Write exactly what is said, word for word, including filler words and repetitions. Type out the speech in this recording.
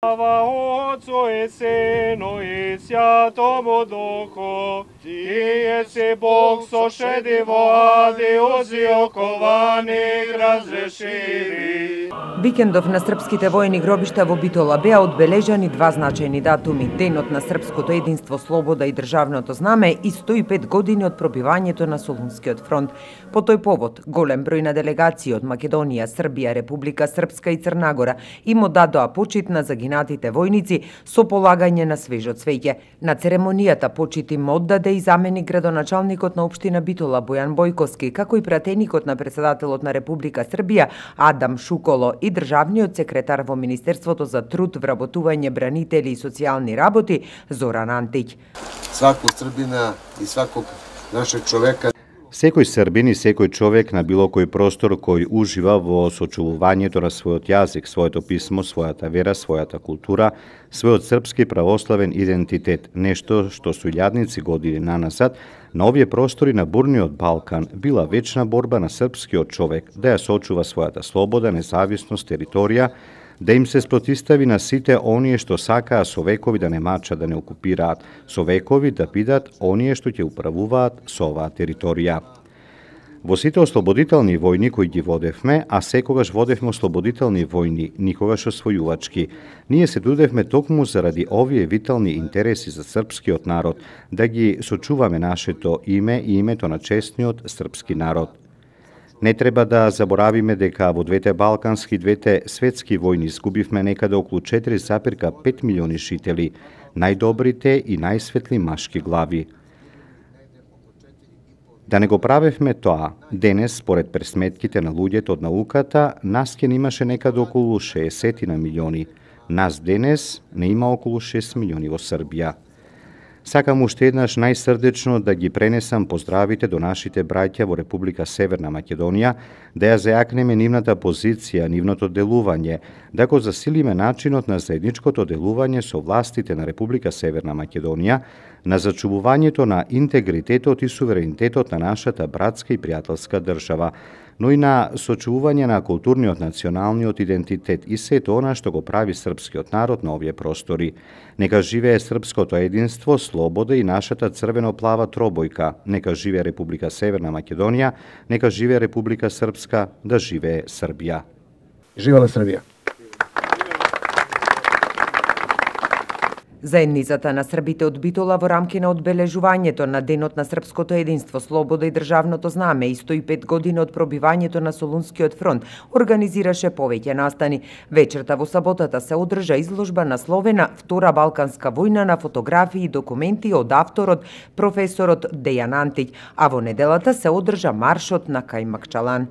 Слава Отцу и Сину и Святому Духу, Тие си Бог сошеди во ади узи окованих разрешиви. Викендов на српските војни гробишта во Битола беа одбележани два значајни датуми: Денот на српското единство, слобода и државното знаме и сто и пет години од пробивањето на Солунскиот фронт. По тој повод, голем број на делегации од Македонија, Србија, Република Српска и Црна Гора им одадоа почит на загинатите војници со полагање на свежо цвеќе. На церемонијата почит им оддаде и заменик градоначалникот на општина Битола Бојан Бојковски, како и пратеникот на председателот на Република Србија Адам Шуколо и државниот секретар во Министерството за труд, вработување, бранители и социјални работи Зоран Антиќ. Сваког Србина и сваког нашeg човека. Секој србин и секој човек на било кој простор кој ужива во сочувувањето на својот јазик, своето писмо, својата вера, својата култура, својот српски православен идентитет, нешто што со илјадници години наназад на овие простори на бурниот Балкан била вечна борба на српскиот човек да ја сочува својата слобода, независност, територија, да им се спротистави на сите оние што сакаа со векови да не мачат, да не окупираат, со векови да бидат оние што ќе управуваат со оваа територија. Во сите ослободителни војни кои ги водевме, а секогаш водевме ослободителни војни, никогаш освојувачки, ние се дудевме токму заради овие витални интереси за српскиот народ, да ги сочуваме нашето име и името на честниот српски народ. Не треба да заборавиме дека во двете балкански и двете светски војни изгубивме некаде околу четири запирка пет милиони жители, најдобрите и најсветли машки глави. Да не го правевме тоа, денес, според пресметките на луѓето од науката, нас ке имаше некаде околу шеесет милиони. Нас денес не има околу шест милиони во Србија. Сакам уште еднаш најсрдечно да ги пренесам поздравите до нашите браќа во Република Северна Македонија, да ја зајакнеме нивната позиција, нивното делување, да го засилиме начинот на заедничкото делување со властите на Република Северна Македонија, на зачувувањето на интегритетот и суверенитетот на нашата братска и пријателска држава, но и на сочувување на културниот националниот идентитет и сето она што го прави српскиот народ на овие простори. Нека живее српското единство, слобода и нашата црвено-плава тробојка. Нека живее Република Северна Македонија, нека живее Република Српска, да живее Србија. Живела Србија! Заедницата на србите од Битола во рамки на одбележувањето на Денот на српското единство, слобода и државното знаме и сто и пет години од пробивањето на Солунскиот фронт организираше повеќе настани. Вечерта во саботата се одржа изложба насловена Втора Балканска војна на фотографии и документи од авторот професорот Дејан Антиќ, а во неделата се одржа маршот на Кајмакчалан.